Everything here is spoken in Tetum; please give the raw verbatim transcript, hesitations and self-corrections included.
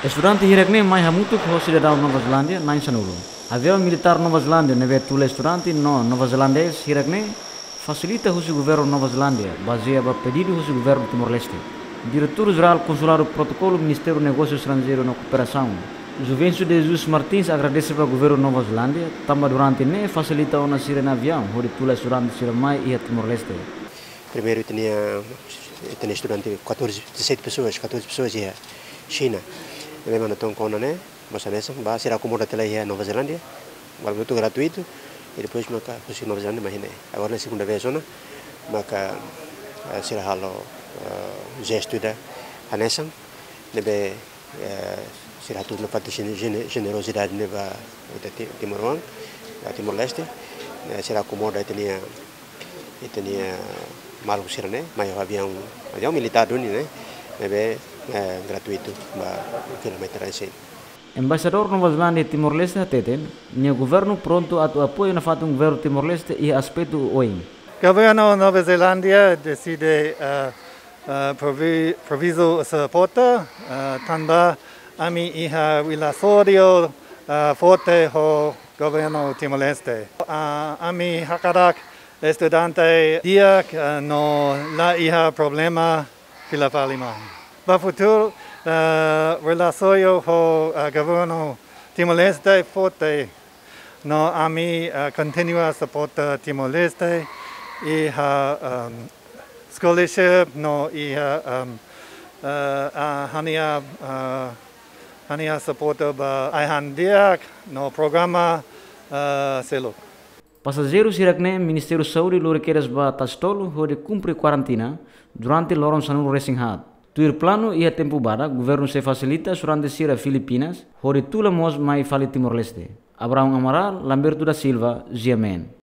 Estudante hirak-ne'e mai hamutuk ho sidadaun Nova Zelándia na'in sanulu. Aviaun militár Nova Zelándia ne'ebé tula estudante no neozelandés hirak-ne'e fasilita husi governu Nova Zelándia, bazeia ba pedidu husi governu Timor-Leste. Diretór Jerál Konsuladu Protokolu Ministériu Negósiu Estranjeiru no Kooperasaun, Juvencio de Jesus Martins, agradese ba governu Nova Zelándia, tanba durante ne'e fasilita ona sira-nia aviaun hodi tula estudante sira mai iha Timor-Leste. Primeiru, tinha, tinha estudante catorze, dezassete pessoas, catorze pessoas iha Xina. Ne'ebé manda ton kona ne'e, mós hanesan, ba sira akomoda tiha lai iha Nova Zelándia, ba tudo gratuito, e depois maka husi Nova Zelándia mai iha ne'e. Agora ne'e segunda vez ona, maka, eh, sira halo, eh, jestu ida hanesan, ne'ebé, eh, sira hatudu nafatin jene-, jene-, jenerozidade ne'e ba ita ti-, timoroan, ba Timor-Leste, eh, sira akomoda ita-nia, ita-nia maluk sira-ne'e, mai ho aviaun, aviaun militár duni ne'e, ne'ebé, eh, gratuitu ba kilometer resin. Embaixadór Nova Zelándia iha Timor-Leste hateten, nia governu prontu atu apoiu nafatin governu Timor-Leste iha aspetu oioin. Governu Nova Zelándia deside, eh, eh, provi-, provizu suporta, eh, tanba ami iha relasaun, eh, forte ho governu Timor-Leste. Eh, ami hakarak estudante di'ak, eh, no la iha problema fila fali mai. Ba futuru, eh, relasaun ho, eh, governu Timor-Leste forte. No ami, eh, kontinua suporta Timor-Leste iha, ehm, scholarship no iha, ehm, eh, ah, ha'u-nia, eh, ha'u-nia suporta ba ai-han di'ak no programa, eh, seluk. Pasajeiru hirak-ne'e Ministériu Saúde lori kedas ba Tasitolu hodi kumpre kuarentina durante loron sanulu resin haat. Tuir planu iha tempu badak, governu sei fasilita estudante sira Filipinas hodi tula mós mai fali Timor-Leste. Abraão Amaral, Lamberto da Silva, G M N.